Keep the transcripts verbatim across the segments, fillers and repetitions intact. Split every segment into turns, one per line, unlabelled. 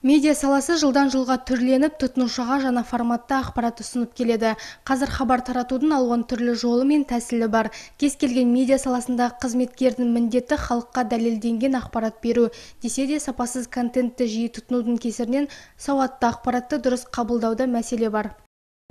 Медиа саласы жылдан жылға түрленіп, тұтынушыға жаңа форматта ақпарат ұсынып келеді. Қазір хабар таратудың алуан түрлі жолы мен тәсілі бар. Кез келген медиа саласындағы қызметкердің міндеті халыққа дәлелденген ақпарат беру. Десе де сапасыз контентті жиі тұтынудың кесірінен сауатты ақпаратты дұрыс қабылдауда мәселе бар.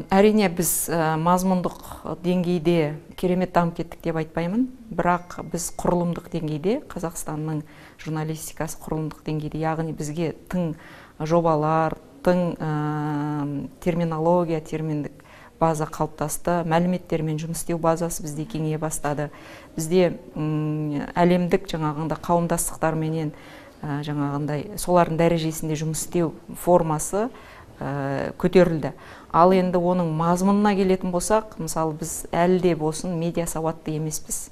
Әрине, біз мазмұндық деңгейде керемет дамып кеттік деп айтпаймын, бірақ біз құрылымдық деңгейде, Қазақстанның журналистикасы құрылымдық деңгейде, яғни бізге тың жобалар, тың терминология, терминдік база қалыптасты, мәліметтермен жұмыс істеу базасы бізде кеңейе бастады. Бізде әлемдік жаңағында қауымдастықтарменен жаңағындай солардың дәрежесінде жұмыс істеу формасы көтерілді. Ал енді оның мазмұнына келетін болсақ, мысалы біз әлі де болсын медиа сауатты емеспіз.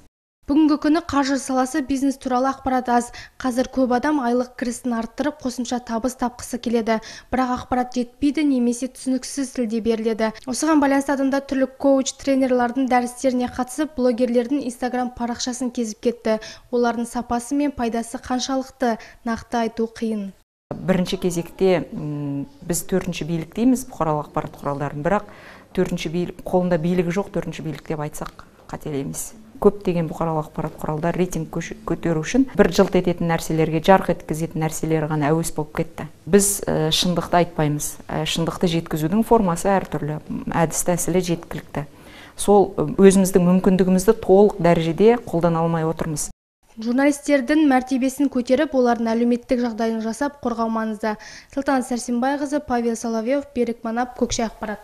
Бүгінгі күні қаржы саласы бизнес туралы ақпарат аз. Қазір көп адам айлық кірісін арттырып, қосымша табыс тапқысы келеді. Бірақ ақпарат жетпейді, немесе түсініксіз тілде беріледі. Осыған байланысты адамдар түрлі коуч, тренерлардың дәрістеріне қатысып, блогерлердің инстаграм парақшасын кезіп кетті. Олардың сапасы мен пайдасы қаншалықты, нақты айту қиын.
Бірінші кезекте біз төртінші билік дейміз бұқаралық ақпарат құралдарын, бірақ төртінші билік, қолында билігі жоқ төртінші билік деп айтсақ қателеміз. Көптеген бұқаралық ақпарат құралдар рейтинг көтеру үшін бір жылт ететін нәрселерге, жарқ еткізетін нәрселер ғана әуес болып кетті. Біз шындықты айтпаймыз. Шындықты жеткізудің формасы әртүрлі, әдіс тәсілі жеткілікті. Сол өзіміздің мүмкіндігімізді толық дәрежеде қолдана алмай отырмыз.
Журналистердің мәртебесін көтеріп, олардың әлеуметтік жағдайын жасап қорғау маңызды. Салтанат Сәрсенбайқызы, Павел Соловьев, Берік Манап, Көкше ақпарат.